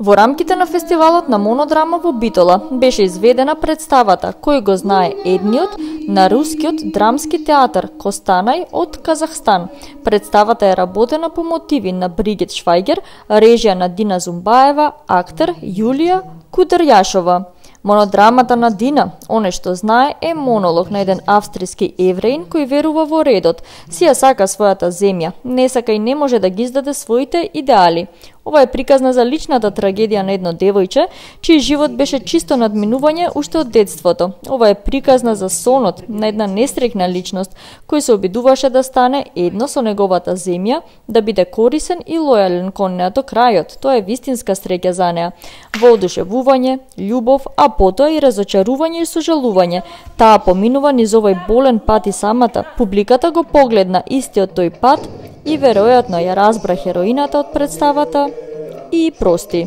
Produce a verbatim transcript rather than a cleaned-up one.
Во рамките на фестивалот на монодрама во Битола беше изведена представата Кој го знае едниот на рускиот драмски театар Костанај од Казахстан. Представата е работена по мотиви на Бригит Швајгер, режија на Дина Зумбаева, актер Јулија Кударјашова. Монодрамата на Дина, оне што знае, е монолог на еден австријски евреин кој верува во редот, си ја сака својата земја, не сака и не може да ги издаде своите идеали. Ова е приказна за личната трагедија на едно девојче, чиј живот беше чисто надминување уште од детството. Ова е приказна за сонот на една несреќна личност, кој се обидуваше да стане едно со неговата земја, да биде корисен и лојален кон неа до крајот. Тоа е вистинска среќа за неа. Воодушевување, љубов, а потоа и разочарување и сожалување. Таа поминува низ овој болен пат и самата. Публиката го погледна истиот тој пат и веројатно ја разбра хероината од представата и прости.